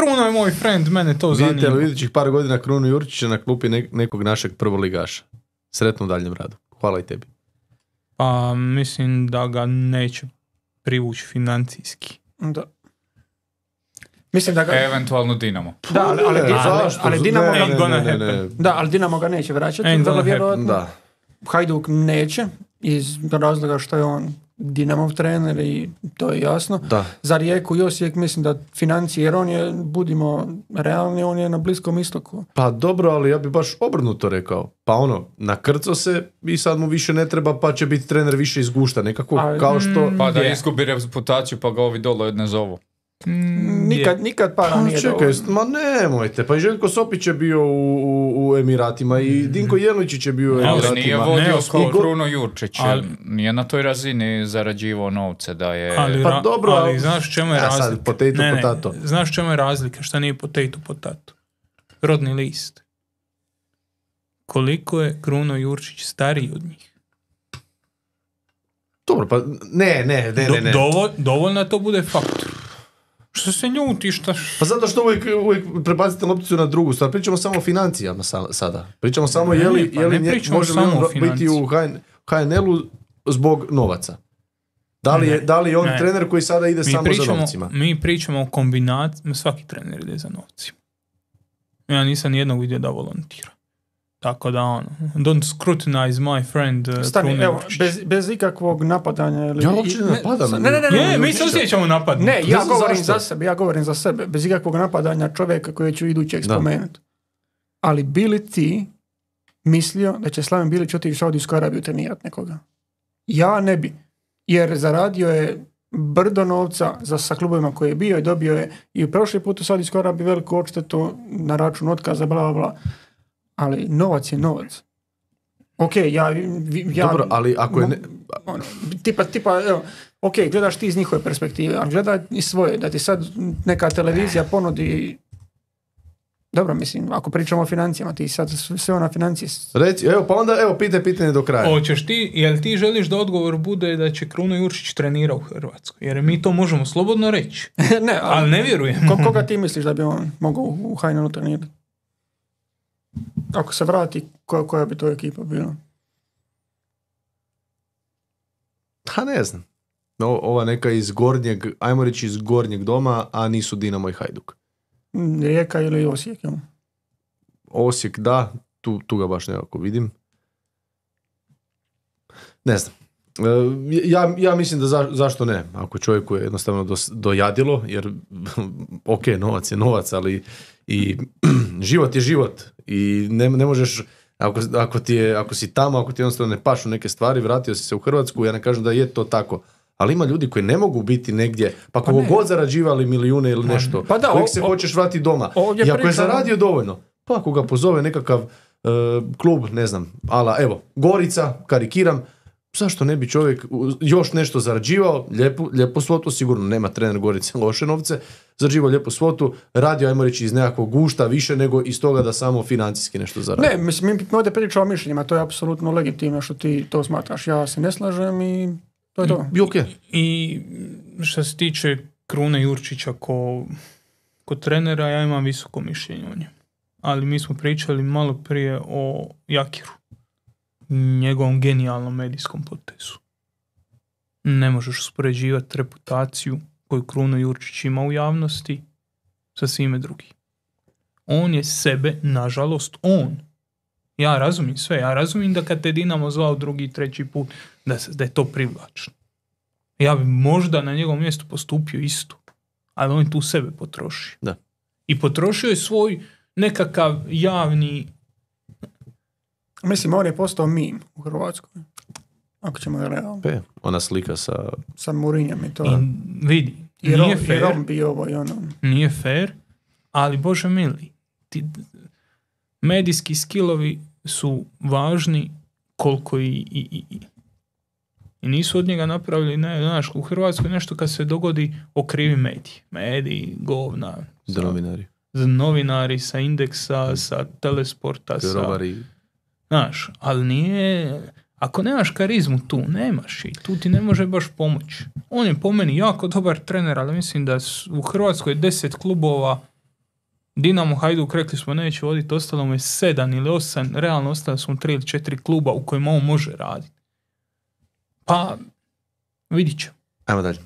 Kruna je moj friend, mene to zanima. Vidite li idućih par godina Krunu Jurčića na klupi nekog našeg prvoligaša? Sretno u daljem radu. Hvala i tebi. Pa mislim da ga neće privući financijski. Da. Mislim da ga... Eventualno Dinamo. Da, ali Dinamo ne. Da, ali Dinamo ga neće vraćati. Vrlo vjerojatno. Da. Hajduk neće, iz razloga što je on Dinamov trener i to je jasno. Da. Za Rijeku i Osijek mislim da financije, jer on je, budimo realni, on je na Bliskom istoku. Pa dobro, ali ja bi baš obrnuto rekao. Pa nakrco se i sad mu više ne treba, pa će biti trener više izgušta. Nekako kao što... Pa da izgubi reputaciju, pa ga ovi dole ne zovu. Nikad para nije čekaj, ma nemojte, pa i Željko Sopić je bio u Emiratima i Dinko Jelničić je bio u Emiratima. Ali nije vodio kao Kruno Jurčić, nije na toj razini zarađivao novce da je... Pa dobro, ali znaš čemu je razlika? Potato. Znaš čemu je razlika, šta nije potato? Rodni list. Koliko je Kruno Jurčić stariji od njih? Dobro, pa ne. Dovoljno to bude faktor. Što se ljutiš? Pa zato što uvijek prebacite lopticu na drugu stvar. Pričamo samo o financijama sada. Pričamo samo je li možemo biti u HNL-u zbog novaca. Da li je on trener koji sada ide samo za novcima? Mi pričamo o kombinaciji. Svaki trener ide za novcima. Ja nisam nijednog vidio da volontira. Tako da don't scrutinize my friend. Stani, evo, bez ikakvog napadanja. Ja uopće ne napadam. Ne, mi se osjećamo napad. Ne, ja govorim za sebe. Bez ikakvog napadanja čovjeka koji ću idućeg spomenuti. Ali bili ti mislio da će Slaven Bilić otići u Saudijsku Arabiju trenirati nekoga? Ja ne bi. Jer zaradio je brdo novca sa klubovima koje je bio i dobio je i u prošli put u Saudijsku Arabiju veliku odštetu na račun otkaza, bla, bla, bla. Ali novac je novac. Ok, ja dobro, ali ako je... Tipa, evo, ok, gledaš ti iz njihove perspektive, ali gledaj i svoje, da ti sad neka televizija ponudi... Dobro, mislim, ako pričamo o financijama, ti sad sve na financije... Reci, pa onda, pitaj pitanje do kraja. Hoćeš ti, jel ti želiš da odgovor bude da će Kruno Jurčić trenira u Hrvatskoj? Jer mi to možemo slobodno reći. Ne, ali ne vjerujem. Koga ti misliš da bi on mogao u HNL-u trenirati? Ako se vrati, koja bi to ekipa bila? Pa ne znam. Ova neka iz gornjeg, ajmo reći iz gornjeg doma, a nisu Dinamo i Hajduk. Rijeka ili Osijek? Osijek, da. Tu ga baš nekako vidim. Ne znam. Ja mislim da zašto ne? Ako čovjeku je jednostavno dojadilo, jer ok, novac je novac, ali i život je život i ne možeš, ako si tamo, ako ti jednostavno ne pašu neke stvari, vratio si se u Hrvatsku, ja ne kažem da je to tako, ali ima ljudi koji ne mogu biti negdje, pa kogo god zarađivali milijune ili nešto, uvijek se hoćeš vratiti doma. I ako je zaradio dovoljno, pa ako ga pozove nekakav klub, ne znam, evo, Gorica, karikiram, zašto ne bi čovjek još nešto zarađivao, lijepu svotu, sigurno nema trener Gorice loše novce, zarađivao lijepu svotu, radio, ajmo reći, iz nekakvog gušta više nego iz toga da samo financijski nešto zaradi. Ne, mislim, mi ovdje pričamo o mišljenjima, to je apsolutno legitimno što ti to smatraš, ja se ne slažem i to je to. I što se tiče Krune Jurčića ko trenera, ja imam visoko mišljenje o njemu. Ali mi smo pričali malo prije o Jakiru, njegovom genijalnom medijskom potezu. Ne možeš uspoređivati reputaciju koju Kruno Jurčić ima u javnosti sa svime drugim. On je sebe, nažalost, ja razumijem sve, ja razumijem da kad te Dinamo zvao drugi, treći put, da je to privlačno. Ja bi možda na njegovom mjestu postupio isto, ali on tu sebe potroši. Da. I potrošio je svoj nekakav javni... Mislim, on je postao meme u Hrvatskoj. Ako ćemo ga realno. Ona slika sa Mourinhom i to. I vidi, nije fair. I Rom bi ovo i ono. Nije fair, ali Bože mili, medijski skillovi su važni koliko i nisu od njega napravili, znaš, u Hrvatskoj nešto kad se dogodi okrivi mediji, govna. Novinari sa Indeksa, sa Telesporta, znaš, ali nije... Ako nemaš karizmu tu, nemaš i tu ti ne može baš pomoći. On je po meni jako dobar trener, ali mislim da u Hrvatskoj 10 klubova Dinamo, Hajduk, rekli smo neće voditi, ostalo mu je 7 ili 8, realno ostalo smo 3 ili 4 kluba u kojima on može raditi. Pa, vidit ćemo. Ajmo dalje.